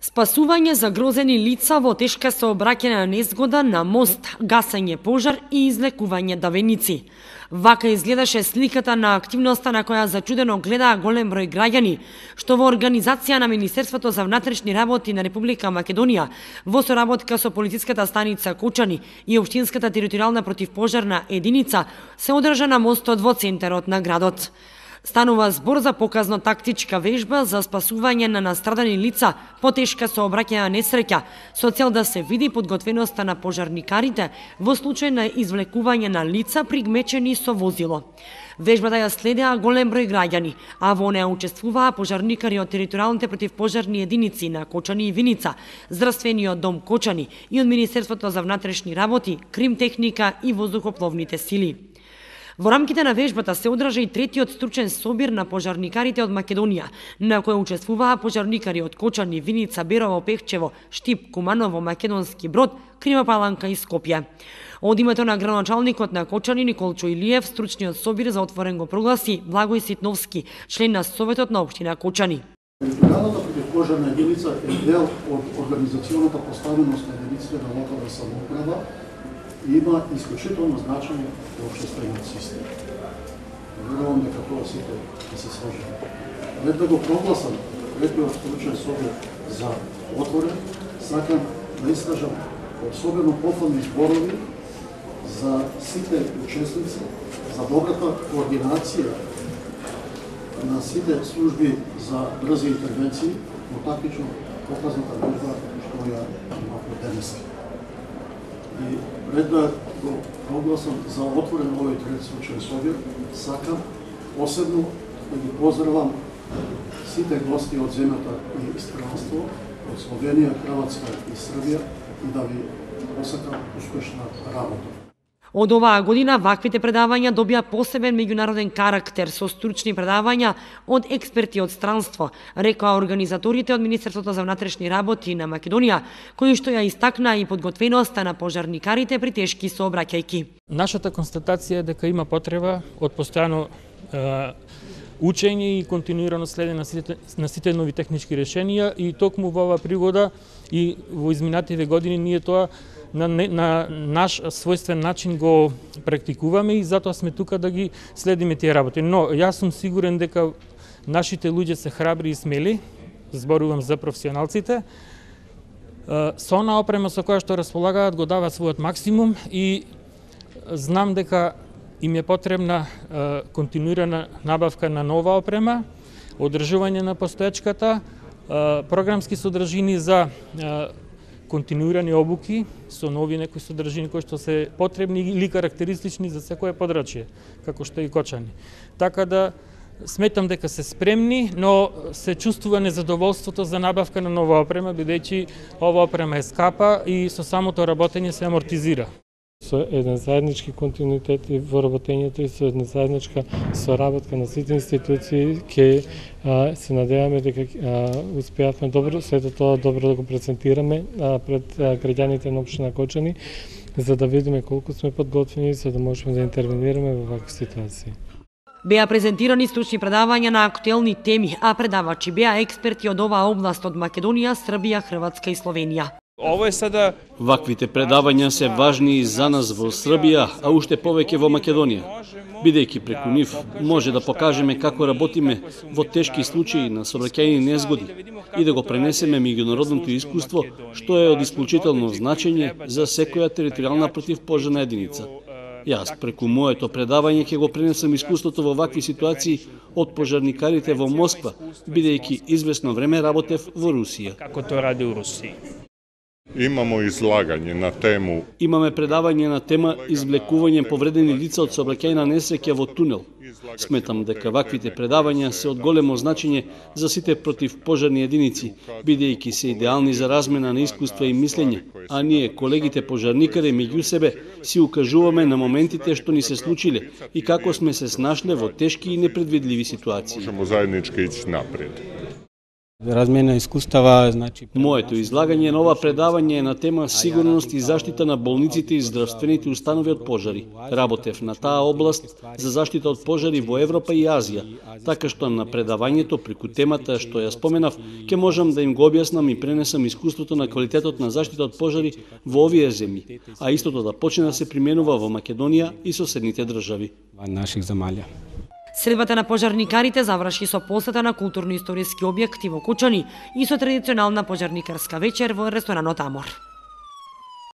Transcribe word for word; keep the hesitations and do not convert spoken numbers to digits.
Спасување загрозени лица во тешка сообраќајна незгода на мост, гасење пожар и излекување давеници. Вака изгледаше сликата на активноста на која зачудено гледаа голем број граѓани, што во организација на Министерството за внатрешни работи на Република Македонија, во соработка со полициската станица Кочани и општинската територијална противпожарна единица, се одржа на мостот во центарот на градот. Станува збор за показно-тактичка вежба за спасување на настрадани лица по тешка сообраќајна несреќа, со цел да се види подготвеноста на пожарникарите во случај на извлекување на лица пригмечени со возило. Вежбата ја следеа голем број граѓани, а во неа учествуваа пожарникари од територијалните противпожарни единици на Кочани и Виница, Здравствениот дом Кочани и од Министерството за внатрешни работи, Кримтехника и воздухопловните сили. Во рамките на вежбата се одржа и третиот стручен собир на пожарникарите од Македонија, на кој учествуваа пожарникари од Кочани, Виница, Берово, Пехчево, Штип, Куманово, Македонски Брод, Крима Паланка и Скопје. Од името на градоначалникот на Кочани Николчо Илиев, стручниот собир за отворен го прогласи Благој Ситновски, член на Советот на општина Кочани. Територијалната противпожарна единица е дел од организационата поставеност на единиците на локална самоуправа и има исклучително значење во општествениот систем. Верувам дека тоа сите ќе се сложиме. Пред да го прогласам третиот стручен собир за отворен, сакам да искажам особено пофални зборови за сите учесници, за добрата координација на сите служби за брзи интервенции во тактично показната вежба што ја имавме денес. И пред да го прогласам за отворен овој трети случај собир, сакам посебно да ги поздравам сите гости од земјата и странство, од Словенија, Хрватска и Србија и да ви посакам успешна работа. Од оваа година ваквите предавања добија посебен меѓународен карактер со стручни предавања од експерти од странство, рекоа организаторите од Министерството за внатрешни работи на Македонија, кои што ја истакнаа и подготвеноста на пожарникарите при тешки сообраќајки. Нашата констатација е дека има потреба од постојано е, учење и континуирано следење на сите, на сите нови технички решенија и токму во оваа пригода и во изминативе години ние тоа на, на наш својствен начин го практикуваме и затоа сме тука да ги следиме тие работи. Но јас сум сигурен дека нашите луѓе се храбри и смели, зборувам за професионалците, со онаа опрема со која што располагаат го даваат својот максимум и знам дека им е потребна континуирана набавка на нова опрема, одржување на постоечката, програмски содржини за континуирани обуки со нови некои содржини кои што се потребни или карактеристични за секое подрачје, како што и Кочани. Така да сметам дека се спремни, но се чувствува незадоволството за набавка на нова опрема, бидејќи ова опрема е скапа и со самото работење се амортизира. Со еден заеднички континуитет во работењето и со една заедничка соработка на сите институции ќе се надеваме дека успеавме добро, сето тоа добро да го презентираме а, пред а, граѓаните на општина Кочани, за да видиме колку сме подготвени за да можеме да интервенираме во вакви ситуации. Беа презентирани стручни предавања на актуелни теми, а предавачи беа експерти од оваа област од Македонија, Србија, Хрватска и Словенија. Ово е сада... Ваквите предавања се важни и за нас во Србија, а уште повеќе во Македонија. Бидејќи преку нив може да покажеме како работиме во тешки случаи на сообраќајни незгоди и да го пренесеме меѓународното искуство, што е од исклучително значење за секоја територијална противпожарна единица. Јас преку моето предавање ќе го пренесам искуството во вакви ситуации од пожарникарите во Москва, бидејќи извесно време работев во Русија. Како тоа ради у Русија? Имамо излагање на тему. Имаме предавање на тема извлекување повредени лица од сообраќајна несреќа во тунел. Сметам дека ваквите предавања се од големо значење за сите противпожарни единици, бидејќи се идеални за размена на искуства и мислење, а ние, колегите пожарникари, меѓу себе си укажуваме на моментите што ни се случиле и како сме се снашле во тешки и непредвидливи ситуации. Можемо заеднички иći напред. Размена искуствава, значи Моето излагање на ова предавање е на тема сигурност и заштита на болниците и здравствените установи од пожари. Работев на таа област за заштита од пожари во Европа и Азија, така што на предавањето преку темата што ја споменав, ќе можам да им го објаснам и пренесам искуството на квалитетот на заштита од пожари во овие земји, а истото да почне да се применува во Македонија и соседните држави. во наших земји. Средбата на пожарникарите заврши со посета на културно-историски објекти во Кучани и со традиционална пожарникарска вечер во ресторанот Амор.